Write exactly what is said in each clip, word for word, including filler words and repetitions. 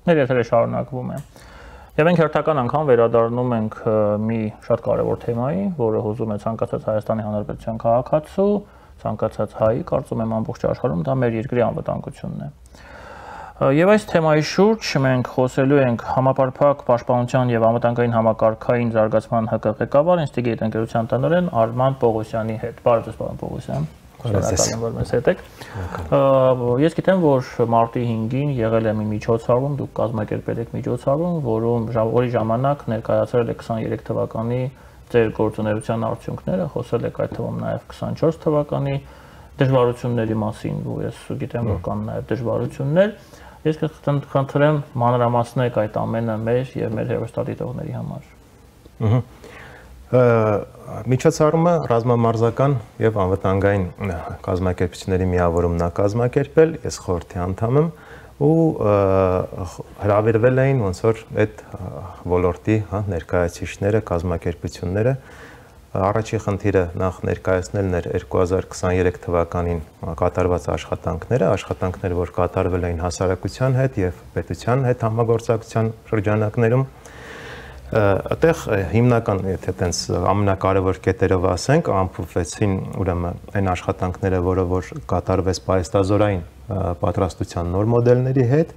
մեր եթերը շարունակվում է։ Եվ մենք հերթական անգամ վերադառնում ենք մի շատ կարևոր թեմայի, որը հուզում է ցանկացած Հայաստանի Հանրապետության քաղաքացու, ցանկացած հայի, կարծում եմ ամբողջ աշխարհում դա մեր երկրի անվտանգությունն է։ Եվ այս թեմայի շուրջ մենք խոսելու ենք համապարփակ պաշտպանության եւ անվտանգային համակարգային զարգացման ՀԿ ղեկավար ինստիտուտի ընկերության տնօրեն Արման Պողոսյանի հետ։ Բարև ձեզ, պարոն Պողոսյան։ Շնորհակալ եմ, որ մեզ հետ եք։ Ես գիտեմ, որ մարտի հինգին եղել է մի միջոցառում, դուք կազմակերպել եք միջոցառում, որում որի ժամանակ ներկայացրել եք քսաներեք թվականի ձեր գործունեության արդյունքները, խոսել եք այդ թվում նաև քսանչորս թվականի դժվարությունների մասին, ու ես գիտեմ, որ կան նաև դժվարություններ։ Ես կխնդրեմ մանրամասնեք այդ ամենը մեր եւ մեր հեռուստադիտողների համար։ Միջոցառումը ռազմամարզական եւ անվտանգային կազմակերպությունների միավորումն է կազմակերպել, ես խորհրդի անդամ եմ ու հրավիրվել էին ոնց որ այդ ոլորտի ներկայացուցիչները, կազմակերպությունները։ Առաջի խնդիրը նախ ներկայացնելն էր երկու հազար քսաներեք թվականին կատարված աշխատանքները, աշխատանքներ, որ կատարվել էին հասարակության հետ եւ պետության հետ համագործակցության շրջանակներում։ Այդտեղ հիմնական, եթե տենց ամենակարևոր կետերով ասենք, ամփոփվեցին ուրեմն այն աշխատանքները, որը որ կատարվեց պայստազորային պատրաստության նոր մոդելների հետ,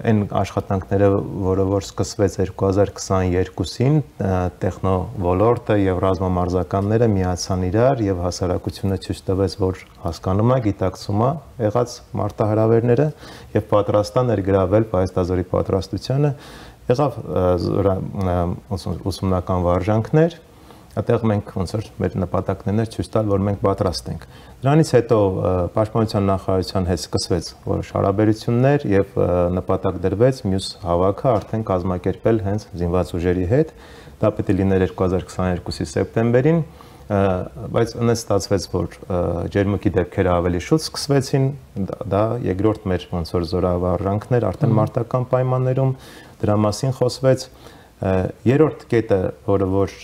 այն աշխատանքները, որը որ սկսվեց երկու հազար քսաներկուսին, տեխնոլորտը եւ ռազմամարզականները միացան իրար եւ հասարակությունը ցույց տվեց, որ հասկանում է, գիտակցում է եղած մարտահրավերները եւ պատրաստ է ներգրավել պայստազորի պատրաստությանը։ Եղավ ուսումնական վարժանքներ, այդտեղ մենք ոնց որ մեր նպատակներն էր ցույց տալ, որ մենք պատրաստ ենք։ Դրանից հետո Պաշտպանության նախարարության հետ սկսվեց որոշ հարաբերություններ եւ նպատակ դրվեց մյուս հավաքը արդեն կազմակերպել հենց զինված ուժերի հետ։ Դա պետք է լիներ երկու հազար քսաներկուսի սեպտեմբերին, բայց այնպես ստացվեց, որ ջերմուկի դեպքերը ավելի շուտ սկսվեցին, դա երկրորդ մեր ոնց որ զորավարժանքներ արդեն մարտական պայմաններում, դրա մասին խոսվեց։ Երրորդ կետը, որը որ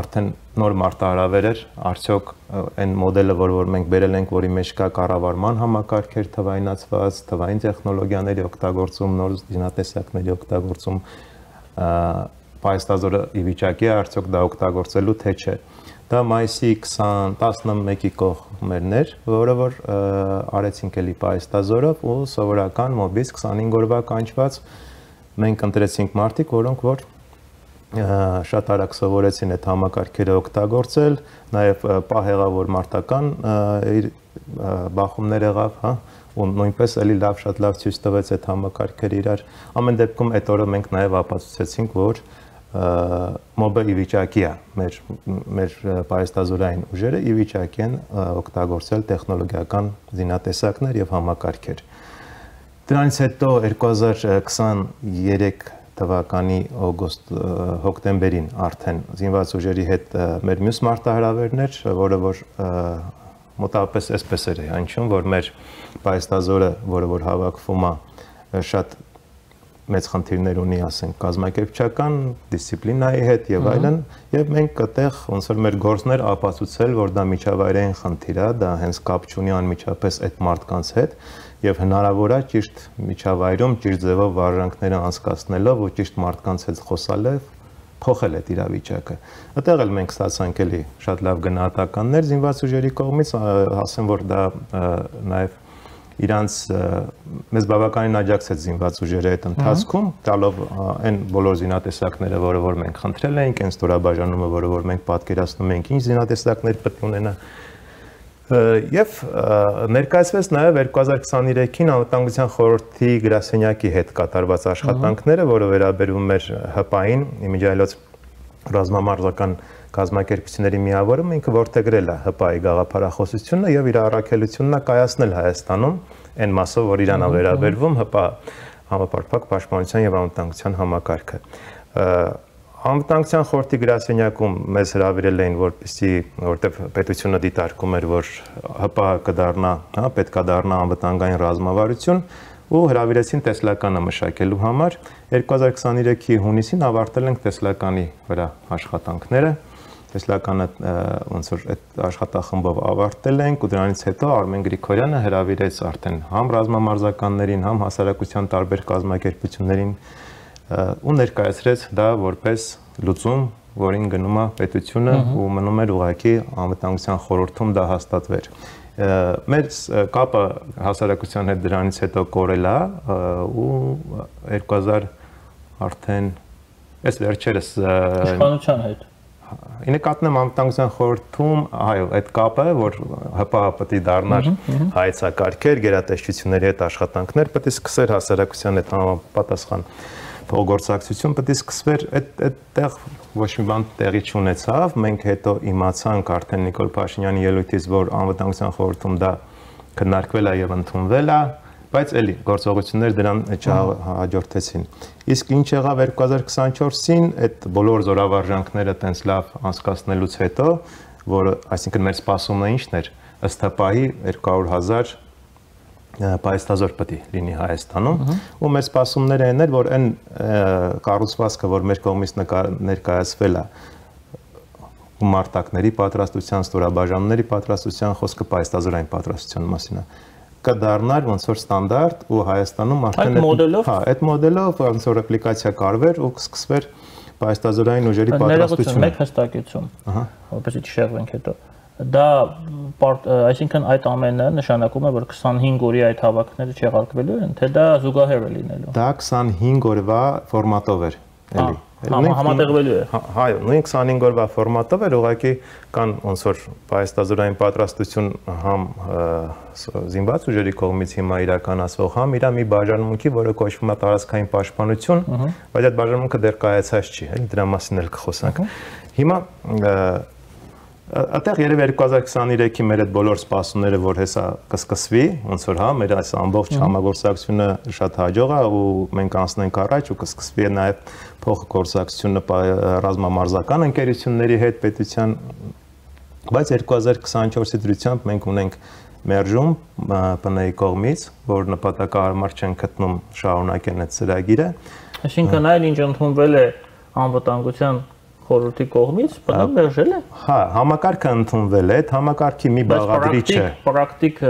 արդեն նոր մարտահրավեր էր, արդյոք այն մոդելը, որ որ մենք բերել ենք, որի մեջ կա կառավարման համակարգեր թվայնացված, թվային տեխնոլոգիաների օգտագործում, նոր զինատեսակների օգտագործում, պայստազորը ի վիճակի է արդյոք դա օգտագործելու թե չէ։ Դա մայիսի տասնմեկի կողմերն էր, որը որ արեցինք էլի պայստազորով ու սովորական մոբից քսանհինգ օրվա կանչված մենք ընտրեցինք մարդիկ, որոնք որ շատ արագ սովորեցին այդ համակարգերը օգտագործել, նաև պահեղավոր մարտական բախումներ եղավ, հա, ու նույնպես էլի լավ, շատ լավ ցույց տվեց այդ համակարգերը իրար։ Ամեն դեպքում այդ օրը մենք նաև ապացուցեցինք, որ մոբը ի վիճակի է, մեր մեր պայստազորային ուժերը ի վիճակի են օգտագործել տեխնոլոգիական զինատեսակներ եւ համակարգեր։ Դրանից հետո երկու հազար քսաներեք թվականի օգոստո հոկտեմբերին արդեն զինված ուժերի հետ մեր մյուս մարտահրավերներ, որը որ մոտավորապես այսպես էր հնչում, որ մեր պայստազորը, որը որ հավաքվում է, շատ մեծ խնդիրներ ունի, ասենք, կազմակերպչական դիսցիպլինայի հետ եւ այլն, եւ մենք այդտեղ ոնց որ մեր գործներ ապացուցել, որ դա միջավայրային խնդիր է, դա հենց կապ չունի անմիջապես այդ մարդկանց հետ եւ հնարավոր է ճիշտ միջավայրում ճիշտ ձևով վարժանքները անցկացնելով ու ճիշտ մարդկանց հետ խոսալով փոխել այդ իրավիճակը։ Այդտեղ էլ մենք ստացանք էլի շատ լավ գնահատականներ զինված ուժերի կողմից, ասեմ, որ դա նաեւ իրանց մեզ բավականին աջակցեց զինված ուժերը այդ ընթացքում, տալով այն բոլոր զինատեսակները, որը որ մենք խնդրել էինք, այն ստորաբաժանումը, որը որ մենք պատկերացնում էինք, ինչ զինատեսակներ պետք է ունենա։ Եվ ներկայացվեց նաև երկու հազար քսաներեքին անվտանգության խորհրդի գրասենյակի հետ կատարված աշխատանքները, որը վերաբերում էր ՀՊԱ-ին, իմիջիայլոց ռազմամարզական կազմակերպությունների միավորումը, ինքը որդեգրել է ՀՊԱ-ի գաղափարախոսությունը եւ իր առաքելությունն է կայացնել Հայաստանում այն մասով, որ իրան է վերաբերվում ՀՊԱ համապարփակ պաշտպանության եւ անվտանգության համակարգը։ Անվտանգության խորհրդի գրասենյակում մեզ հրավիրել էին, որպեսզի որտեղ պետությունը դիտարկում էր, որ ՀՊԱ-ը կդառնա, հա, պետք է դառնա անվտանգային ռազմավարություն, ու հրավիրեցին տեսլականը մշակելու համար։ երկու հազար քսաներեքի հունիսին ավարտել ենք տեսլականի վրա աշխատանքները տեսլականը ոնց որ այդ աշխատախմբով ավարտել ենք ու դրանից հետո Արմեն Գրիգորյանը հրավիրեց արդեն համ ռազմամարզականներին, համ հասարակության տարբեր կազմակերպություններին ու ներկայացրեց դա որպես լուծում, որին գնում է պետությունը ու մնում էր ուղղակի անվտանգության խորհրդում դա հաստատվեր։ Մեր կապը հասարակության հետ դրանից հետո կորել է ու երկու հազար արդեն այս վերջերս իշխանության հետ Ինը կատնեմ անվտանգության խորհրդում, այո, այդ կապը, որ ՀՊՀ պետք է դառնար հայեցակարգեր, գերատեսչությունների հետ աշխատանքներ, պետք է սկսեր հասարակության հետ համապատասխան փոխգործակցություն պետք է սկսվեր, այդ այդտեղ ոչ մի բան տեղի չունեցավ, մենք հետո իմացանք արդեն Նիկոլ Փաշինյանի ելույթից, որ անվտանգության խորհրդում դա քննարկվել է եւ ընդունվել է, բայց էլի գործողություններ դրան չհաջորդեցին։ Իսկ ինչ եղավ երկու հազար քսանչորսին, այդ բոլոր զորավարժանքները տենց լավ անցկացնելուց հետո, որը, այսինքն մեր սպասումն ինչն էր, ըստ ՀՊԱ-ի երկու հարյուր հազար պայստազոր պետք է լինի Հայաստանում, ու մեր սպասումները այն էր, որ այն կառուցվածքը, որ մեր կողմից ներկայացվել է մարտակների պատրաստության, ստորաբաժանումների պատրաստության, խոսքը պայստազորային պատրաստության մասին է, կդառնար ոնց որ ստանդարտ ու Հայաստանում արդեն այդ մոդելով, հա, այդ մոդելով ոնց որ ռեպլիկացիա կարվեր ու կսկսվեր պայստազորային ուժերի պատրաստությունը։ Մեկ հստակեցում, որպեսզի չշեղվենք հետո։ Դա այսինքն այդ ամենը նշանակում է, որ քսանհինգ օրի այդ հավաքները չեղարկվելու են, թե դա զուգահեռ է լինելու։ Դա քսանհինգ օրվա ֆորմատով էր, էլի։ Համատեղվելու է։ Այո, նույն քսանհինգ օրվա ֆորմատով էր, ուղղակի կան ոնց որ պայստազորային պատրաստություն համ զինված ուժերի կողմից հիմա իրականացվող, համ իր մի բաժանմունքի, որը կոչվում է տարածքային պաշտպանություն, բայց այդ բաժանմունքը դեռ կայացած չի, էլի դրա մասին էլ կխոսանք։ Հիմա Այդտեղ երևի երկու հազար քսաներեքի մեր այդ բոլոր սպասումները, որ հեսա կսկսվի, ոնց որ հա, մեր այս ամբողջ համագործակցությունը շատ հաջող է ու մենք անցնենք առաջ ու կսկսվի նաև փոխգործակցությունը ռազմամարզական ընկերությունների հետ պետության, բայց երկու հազար քսանչորսի դրությամբ մենք ունենք մերժում ՊՆ-ի կողմից, որ նպատակահարմար չեն գտնում շարունակեն այդ ծրագիրը։ Այսինքն այլ ինչ ընդունվել է անվտանգության խորհրդի կողմից, բնավ մերժել է։ Հա, համակարգը ընդունվել է, այդ համակարգի մի բաղադրիչ է։ Պրակտիկ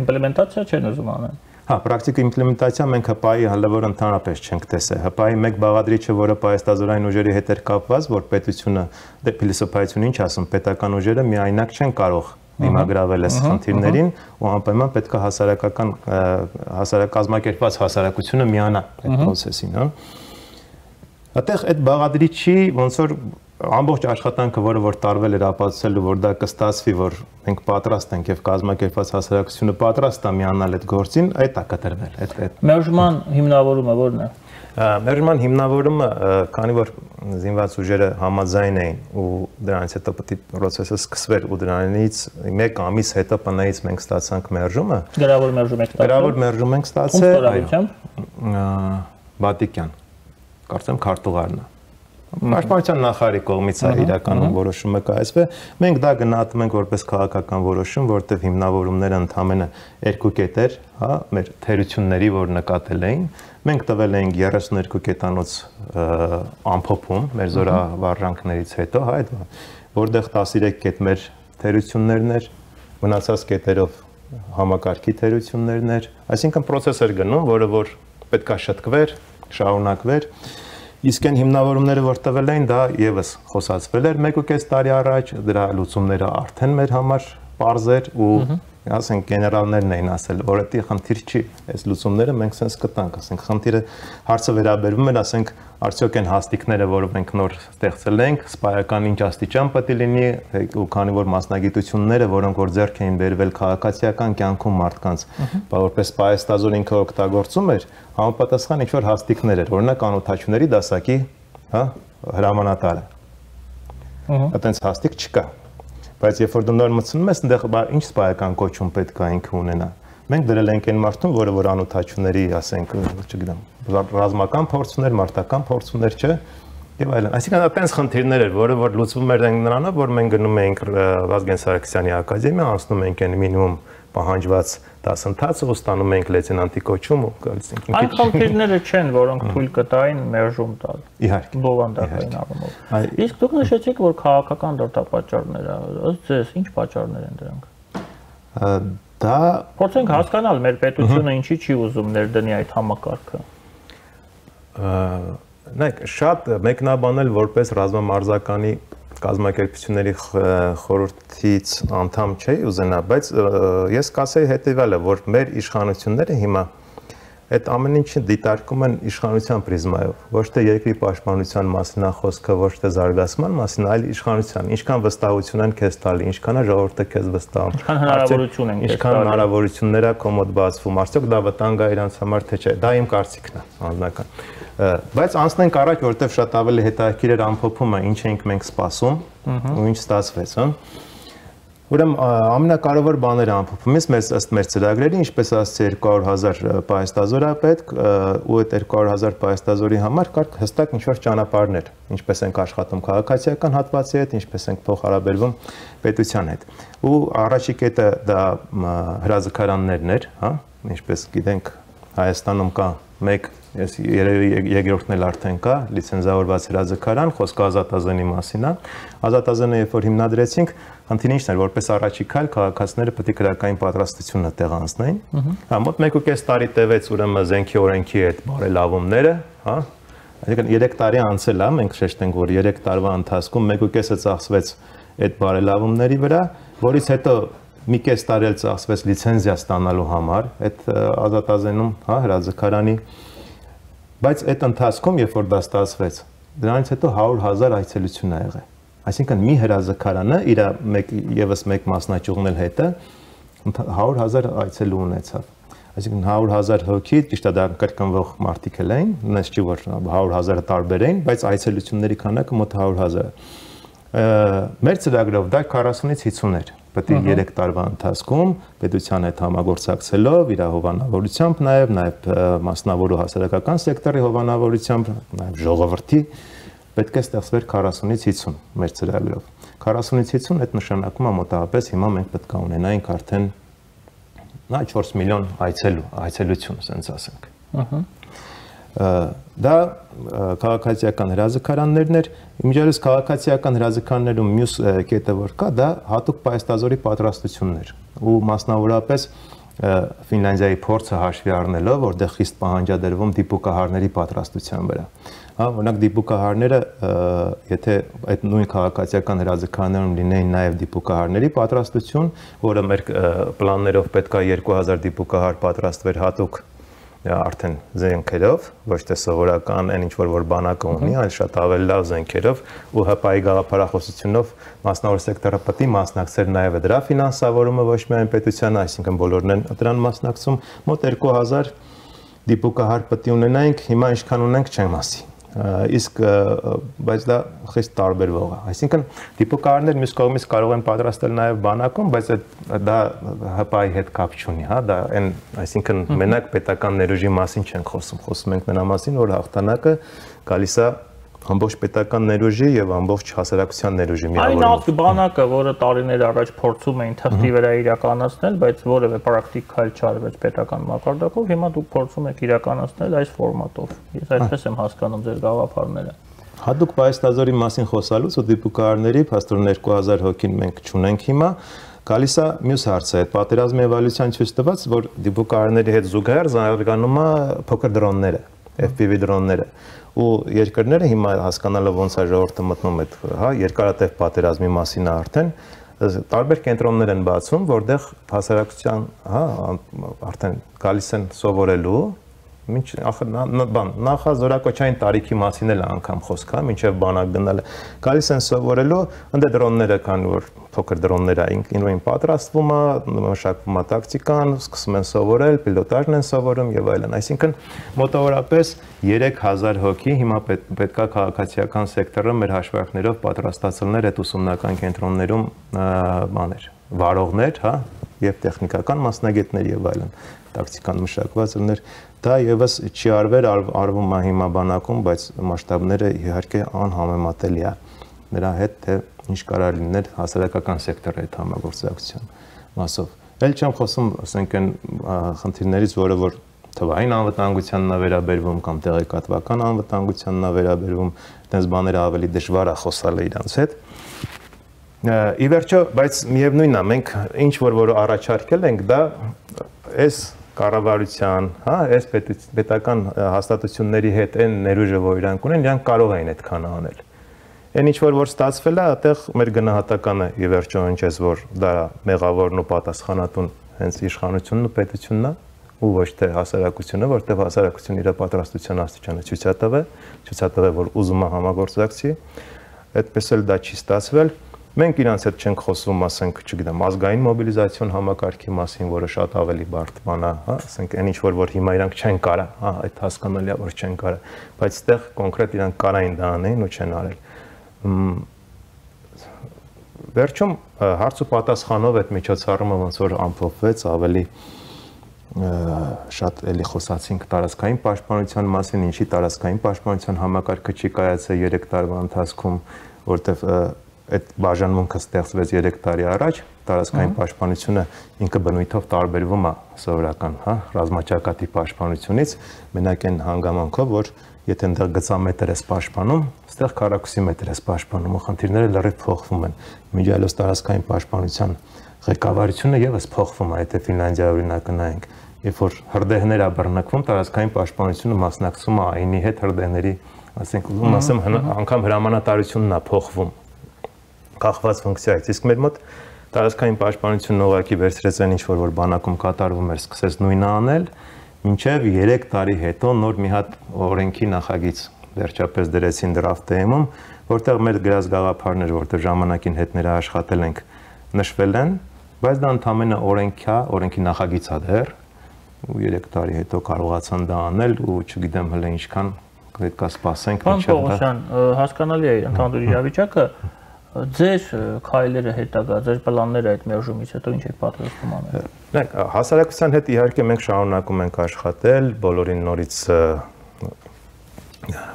իմպլեմենտացիա չեն ուզում անեն։ Հա, պրակտիկ իմպլեմենտացիա մենք ՀՊԱ-ի հլավոր ընդհանրապես չենք տեսել։ ՀՊԱ-ի մեկ բաղադրիչը, որը պայստազորային ուժերի հետ էր կապված, որ պետությունը, դե փիլիսոփայություն ինչ ասում, պետական ուժերը միայնակ չեն կարող դիմագրավել այս խնդիրներին ու անպայման պետք է հասարակական հասարակազմակերպված հասարակությունը միանա այդ process-ին, հա։ Այդտեղ այդ բաղադրիչի ոնց որ ամբողջ աշխատանքը, որը որ տարվել էր ապացուցելու, որ դա կստացվի, որ մենք պատրաստ ենք եւ կազմակերպված հասարակությունը պատրաստ է միանալ այդ գործին, այդ է կտրվել, այդ այդ Մերժման հիմնավորումը ո՞րն է։ Մերժման հիմնավորումը, քանի որ զինված ուժերը համաձայն էին ու դրանից հետո պետք է process-ը սկսվեր ու դրանից մեկ ամիս հետո ՊՆ-ից մենք ստացանք մերժումը։ Գրավոր մերժում եք ստացել։ Գրավոր մերժում ենք ստացել, այո։ Բատիկյան կարծեմ քարտուղարն է։ Պաշտպանության նախարարի կողմից է իրականում որոշումը կայացվել։ Մենք դա գնահատում ենք որպես քաղաքական որոշում, որտեղ հիմնավորումները ընդամենը երկու կետեր, հա, մեր թերությունների, որ նկատել էին, մենք տվել էինք երեսուններկու կետանոց ամփոփում մեր զորավարժանքներից հետո, հա, այդ որտեղ տասներեք կետ մեր թերություններն էր, մնացած կետերով համակարգի թերություններն էր, այսինքն process էր գնում, որը որ պետքա շտկվեր, շարունակվեր։ Իսկ այն հիմնավորումները, որ տվել էին, դա եւս խոսացվել էր մեկ ու կես տարի առաջ, դրա լուծումները արդեն մեր համար պարզ էր ու ասենք գեներալներն էին ասել, որ դա խնդիր չի, այս լուծումները մենք sense կտանք, ասենք խնդիրը հարցը վերաբերվում էր, ասենք արդյոք այն հաստիկները, որը մենք նոր ստեղծել ենք, սպայական ինչ աստիճան պետք է լինի, ու քանի որ մասնագիտությունները, որոնք որ ձեռք էին բերվել քաղաքացիական կյանքում մարդկանց, որպես պայստազոր ինքը օգտագործում էր, համապատասխան ինչ որ հաստիկներ էր, օրինակ անօթաչուների դասակի, հա, հրամանատարը։ Այդտենց հաստիկ չկա։ Բայց երբ որ դու նոր մտցնում ես, այնտեղ ինչ սպայական կոչում պետք է ինքը ունենա։ Մենք դրել ենք այն մարդուն, որը որ անօթաչուների, ասենք, չգիտեմ, ռազմական փորձուներ, մարտական փորձուներ չէ, եւ այլն։ Այսինքն այդպես խնդիրներ էր, որը որ լուծվում էր նրանով, որ մենք գնում էինք Վազգեն Սարգսյանի ակադեմիա, անցնում էինք այն մինիմում պահանջված դասընթացը ու ստանում ենք լեյտենանտի կոչում ու գալիս ենք։ Այն խնդիրները չեն, որոնք թույլ կտային մերժում տալ։ Իհարկե։ Բովանդակային առումով։ Իսկ դուք նշեցիք, որ քաղաքական դրդապատճառներ ա, ըստ ձեզ ինչ պատճառներ են դրանք։ Դա փորձենք հասկանալ մեր պետությունը ինչի չի ուզում ներդնի այդ համակարգը։ Նայեք, շատ մեկնաբանել որպես ռազմամարզականի կազմակերպությունների խորհրդից անդամ չէի ուզենա, բայց ես կասեի հետևյալը, որ մեր իշխանությունները հիմա այդ ամեն ինչը դիտարկում են իշխանության պրիզմայով, ոչ թե երկրի պաշտպանության մասին է խոսքը, ոչ թե զարգացման մասին, այլ իշխանության, ինչքան վստահություն են քեզ տալի, ինչքան է ժողովուրդը քեզ վստահում, ինչքան հնարավորություն են քեզ տալի, ինչքան հնարավորություններ է կոմոդ բացվում, արդյոք դա վտանգ է իրանց համար թե չէ, դա իմ կարծիքն է, անձնական։ Բայց անցնենք առաջ, որովհետև շատ ավելի հետաքրքիր էր ամփոփումը, ինչ էինք մենք սպասում ու ինչ ստացվեց, հա։ Ուրեմն ամենակարևոր բաները ամփոփում ես մեզ ըստ մեր ծրագրերի, ինչպես ասացի երկու հարյուր հազար պահեստազոր է պետք ու այդ երկու հարյուր հազար պահեստազորի համար կար հստակ ինչ-որ ճանապարհներ, ինչպես ենք աշխատում քաղաքացիական հատվածի հետ, ինչպես ենք փոխհարաբերվում պետության հետ։ Ու առաջի կետը դա հրաձգարաններն էր, հա, ինչպես գիտենք Հայաստանում կա մեկ, ես երևի երկրորդն էլ արդեն կա, լիցենզավորված հրաձգարան, խոսքը Ազատազենի մասին է։ Ազատազենը երբ որ հիմնադրեցինք, խնդիրը ինչն էր, որպես առաջի քայլ քաղաքացիները պետք է քրեական պատրաստությունը տեղանցնեին։ Հա, մոտ մեկ ու կես տարի տևեց ուրեմն զենքի օրենքի այդ բարելավումները, հա։ Այսինքն երեք տարի անցել է, մենք շեշտենք, որ երեք տարվա ընթացքում մեկ ու կեսը ծախսվեց այդ բարելավումների վրա, որից հետո մի կես տարի էլ ծախսվեց լիցենզիա ստանալու համար այդ Ազատազենում, հա, հրաձգարանի, բայց այդ ընթացքում, երբ որ դա ստացվեց, դրանից հետո հարյուր հազար այցելություն է եղել։ Այսինքն մի հրաձգարանը իր մեկ եւս մեկ մասնաճյուղն էլ հետը հարյուր հազար այցելու ունեցավ։ Այսինքն հարյուր հազար հոգի, ճիշտ է դա կրկնվող մարդիկ էլ էին, նույնպես չի որ հարյուր հազարը տարբեր էին, բայց այցելությունների քանակը մոտ հարյուր հազար է։ Մեր ծրագրով դա քառասունից հիսուն էր։ Պետք է երեք տարվա ընթացքում պետության հետ համագործակցելով, իր հովանավորությամբ նաև, նաև մասնավոր ու հասարակական սեկտորի հովանավորությամբ, նաև ժողովրդի պետք է ստեղծվեր քառասունից հիսուն մեր ծրագրով։ քառասունից հիսուն այդ նշանակում է մոտավորապես հիմա մենք պետք է ունենայինք արդեն նա չորս միլիոն այցելու, այցելություն, ասենք ասենք։ Ահա։ Դա քաղաքացիական հրաձգարաններն էր, իմիջիայլոց քաղաքացիական հրաձգարաններում մյուս կետը որ կա, դա հատուկ պահեստազորի պատրաստությունն էր ու մասնավորապես Ֆինլանդիայի փորձը հաշվի առնելով, որտեղ խիստ պահանջադրվում դիպուկահարների պատրաստության վրա։ Հա, օրինակ դիպուկահարները, եթե այդ նույն քաղաքացիական հրաձգարաններում լինեին նաև դիպուկահարների պատրաստություն, որը մեր պլաններով պետք է երկու հազար դիպուկահար պատրաստվեր հատուկ արդեն զենքերով, ոչ թե սովորական այն ինչ որ բանակը ունի, այլ շատ ավելի լավ զենքերով ու ՀՊԱ-ի գաղափարախոսությունով մասնավոր սեկտորը պետք է մասնակցեր նաև դրա ֆինանսավորումը ոչ միայն պետությանը, այսինքն բոլորն են դրան մասնակցում, մոտ երկու հազար դիպուկահար պետք է ունենայինք, հիմա ինչքան ունենք չեմ ասի։ Իսկ բայց դա խիստ տարբերվող է։ Այսինքն դիպուկահարներ մյուս կողմից կարող են պատրաստել նաև բանակում, բայց դա ՀՊԱ-ի հետ կապ չունի, հա, դա այն, այսինքն մենակ պետական ներուժի մասին չեն խոսում, խոսում ենք նրա մասին, որ հաղթանակը գալիս է ամբողջ պետական ներուժի եւ ամբողջ հասարակության ներուժի միավորումով։ Այն բանակը, որը տարիներ առաջ փորձում էին թղթի վրա իրականացնել, բայց որևէ պրակտիկ քայլ չարվեց պետական մակարդակով, հիմա դուք փորձում եք իրականացնել այս ֆորմատով։ Ես այդպես եմ հասկանում ձեր գաղափարները։ Հատուկ պահեստազորի մասին խոսալուց ու դիպուկահարների փաստորեն երկու հազար հոգին մենք չունենք հիմա, գալիս է մյուս հարցը, այդ պատերազմի էվոլյուցիան ցույց տված, որ դիպուկահարների հետ զուգահեռ զարգանում է փոքր դրոնները, F P V դրոնները։ Ու երկրները հիմա հասկանալով ոնց է ժողովուրդը մտնում այդ, հա, երկարատև պատերազմի մասին է արդեն, տարբեր կենտրոններ են բացում, որտեղ հասարակության, հա, արդեն գալիս են սովորելու, ինչ բան, նախազորակոչային տարիքի մասին էլ անգամ խոսք կա, մինչև բանակ գնալը, գալիս են սովորելու, ընդ դրոնները կան, որ փոքր դրոնները ինքնին պատրաստվում է, մշակվում է տակտիկան, սկսում են սովորել, պիլոտաժն են սովորում եւ այլն։ Այսինքն մոտավորապես երեք հազար հոգի հիմա պետք է քաղաքացիական սեկտորը մեր հաշվարկներով պատրաստացնելներ այդ ուսումնական կենտրոններում բաներ, վարողներ, հա, եւ տեխնիկական մասնագետներ եւ այլն, տակտիկան մշակված լիներ։ Դա եւս չի արվել, արվում է հիմա բանակում, բայց մասշտաբները իհարկե անհամեմատելի է նրա հետ, թե ինչ կարող լիներ հասարակական սեկտորի հետ համագործակցության մասով։ Էլ չեմ խոսում, ասենք այն խնդիրներից, որը որ թվային անվտանգությանն է վերաբերվում կամ տեղեկատվական անվտանգությանն է վերաբերվում, այդպես բաները ավելի դժվար է խոսալ իրանց հետ։ Ի վերջո, բայց միևնույնն է, մենք ինչ որ որ առաջարկել ենք, դա այս կառավարության, հա, այս պետական հաստատությունների հետ այն ներուժը, որ իրանք ունեն, իրանք կարող են այդքան անել։ Այն ինչ որ որ ստացվել է, այդտեղ մեր գնահատականը ի վերջո հնչեց, որ դա մեղավորն ու պատասխանատուն հենց իշխանությունն ու պետությունն է, ու ոչ թե հասարակությունը, որտեղ հասարակությունը իր պատրաստության աստիճանը ցույց է տվել, ցույց է տվել, որ ուզում է համագործակցի, այդպես էլ դա չի ստացվել։ Մենք իրանց հետ չենք խոսում, ասենք, չգիտեմ, ազգային մոբիլիզացիոն համակարգի մասին, որը շատ ավելի բարդ բան է, հա, ասենք, այն ինչ որ որ հիմա իրանք չեն կարա, հա, այդ հասկանալի է, որ չեն կարա, բայց այդտեղ կոնկրետ իրանք կարային դա անեն ու չեն արել։ Վերջում հարց ու պատասխանով այդ միջոցառումը ոնց որ ամփոփվեց, ավելի շատ էլի խոսացինք տարածքային պաշտպանության մասին, ինչի տարածքային պաշտպանության համակարգը չի կայացել երեք տարվա ընթացքում, որտեղ այդ բաժանմունքը ստեղծվեց երեք տարի առաջ, տարածքային պաշտպանությունը ինքը բնույթով տարբերվում է սովորական, հա, ռազմաճակատի պաշտպանությունից, մենակ այն հանգամանքով, որ եթե այնտեղ գծամետր ես պաշտպանում, այստեղ քառակուսի մետր ես պաշտպանում, ու խնդիրները լրիվ փոխվում են։ Միջայլոց տարածքային պաշտպանության ղեկավարությունը եւս փոխվում է, եթե Ֆինլանդիայի օրինակը նայենք, երբ որ հրդեհներ է բռնկվում, տարածքային պաշտպանությունը մասնակցում է ԱԻՆ-ի հետ հրդեհների, ասենք, ուզում ասեմ, անգամ հրամանատարությունն է փոխվում կախված ֆունկցիայից, իսկ մեր մոտ տարածքային պաշտպանությունն ուղղակի վերցրեց այն ինչ որ որ բանակում կատարվում էր, սկսեց նույնը անել, մինչև երեք տարի հետո նոր մի հատ օրենքի նախագիծ վերջապես դրեցին դրաֆտ-ում, որտեղ մեր գրած գաղափարները, որտեղ ժամանակին հետ ներաշխատել ենք, նշվել են, բայց դա ընդամենը օրենք է, օրենքի նախագիծ է դեռ, ու երեք տարի հետո կարողացան դա անել ու չգիտեմ հələ ինչքան պետք է սպասենք մինչև դա։ Պարոն Պողոսյան, հասկանալի է ընդհանուր իրավիճակը, ձեր քայլերը հետագա, ձեր պլանները այդ մերժումից հետո ինչ եք պատրաստում անել։ Նայեք, հասարակության հետ իհարկե մենք շարունակում ենք աշխատել, բոլորին նորից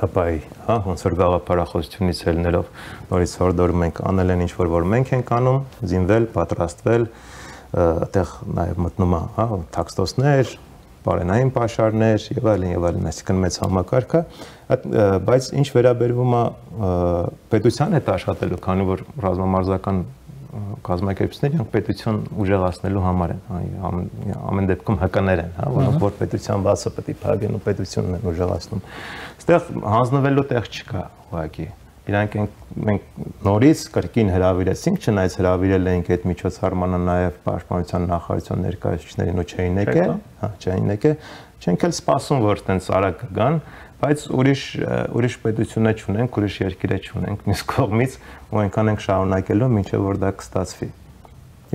հապայի, հա, ոնց որ գաղափարախոսությունից ելնելով նորից հորդորում ենք անել են ինչ որ որ մենք ենք անում, զինվել, պատրաստվել, այդտեղ նաև մտնում է, հա, տաքստոսներ, բարենային պաշարներ եւ այլն եւ այլն, այսինքն մեծ համակարգը, բայց ինչ վերաբերվում է պետության հետ աշխատելու, քանի որ ռազմամարզական կազմակերպությունները իրանք պետություն ուժեղացնելու համար են, ամեն դեպքում հկներ են, հա, որոնք որ պետության բացը պետք է փակեն ու պետությունն են ուժեղացնում։ Այստեղ հանձնվելու տեղ չկա, ուղղակի։ Իրանք մենք նորից կրկին հրավիրեցինք, չնայած հրավիրել էինք այդ միջոցառմանը նաև պաշտպանության նախարարության ներկայացուցիչներին ու չէին եկել, հա, չէին եկել, չենք էլ սպասում, որ այդպես արագ կգան, բայց ուրիշ ուրիշ պետություն չունենք, ուրիշ երկիր չունենք, մյուս կողմից ու այնքան ենք շարունակելու, մինչև որ դա կստացվի։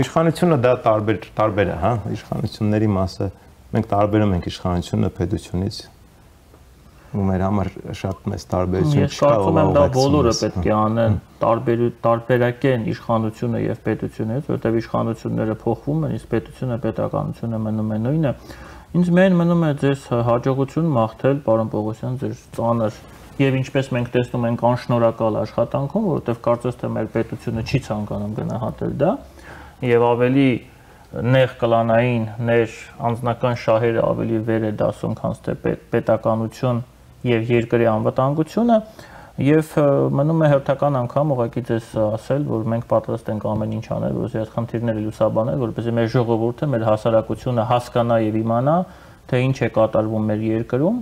Իշխանությունը դա տարբեր տարբեր է, հա, իշխանությունների մասը մենք տարբերում ենք իշխանությունը պետությունից ու մեր համար շատ մեծ տարբերություն չկա։ Ես կարծում եմ դա բոլորը պետք է անեն, տարբերակեն իշխանությունը եւ պետությունը, որտեղ իշխանությունները փոխվում են, իսկ պետությունը պետականությունը մնում է նույնը։ Ինձ մեն մնում է ձեզ հաջողություն մաղթել, պարոն Պողոսյան, ձեր ծանր եւ ինչպես մենք տեսնում ենք անշնորհակալ աշխատանքում, որովհետեւ կարծես թե մեր պետությունը չի ցանկանում գնահատել դա եւ ավելի նեղ կլանային, ներ անձնական շահերը ավելի վեր է դասում, քան թե պետականություն եւ երկրի անվտանգությունը եւ մնում է հերթական անգամ ուղղակի ձեզ ասել, որ մենք պատրաստ ենք ամեն ինչ անել, որպեսզի այդ խնդիրները լուսաբանել, որպեսզի մեր ժողովուրդը, մեր հասարակությունը հասկանա եւ իմանա, թե ինչ է կատարվում մեր երկրում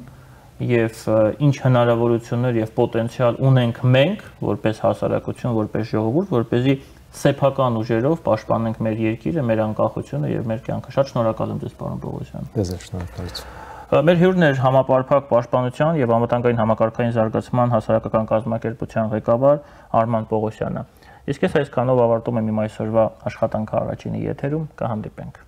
եւ ինչ հնարավորություններ եւ պոտենցիալ ունենք մենք, որպես հասարակություն, որպես ժողովուրդ, որպեսզի սեփական ուժերով պաշտպանենք մեր երկիրը, մեր անկախությունը եւ մեր կյանքը։ Շատ շնորհակալ եմ ձեզ, պարոն Պողոսյան։ Ես եմ շնորհակալություն։ Մեր հյուրն էր համապարփակ պաշտպանության եւ անվտանգային համակարգային զարգացման հասարակական կազմակերպության ղեկավար Արման Պողոսյանը։ Իսկ ես այսքանով ավարտում եմ իմ այսօրվա աշխատանքը առաջինի եթերում, կհանդիպենք։